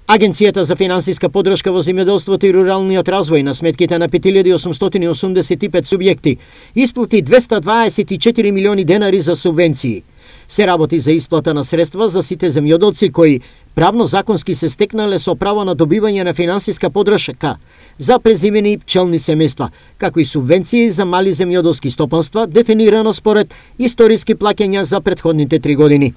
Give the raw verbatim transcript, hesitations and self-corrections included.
Агенцијата за финансиска поддршка во земјоделството и руралниот развој на сметките на пет илјади осумстотини осумдесет и пет субјекти исплати двесте дваесет и четири милиони денари за субвенции. Се работи за исплата на средства за сите земјоделци кои правно законски се стекнале со право на добивање на финансиска поддршка за презимени пчелни семејства, како и субвенции за мали земјоделски стопанства, дефинирано според историски плаќања за претходните три години.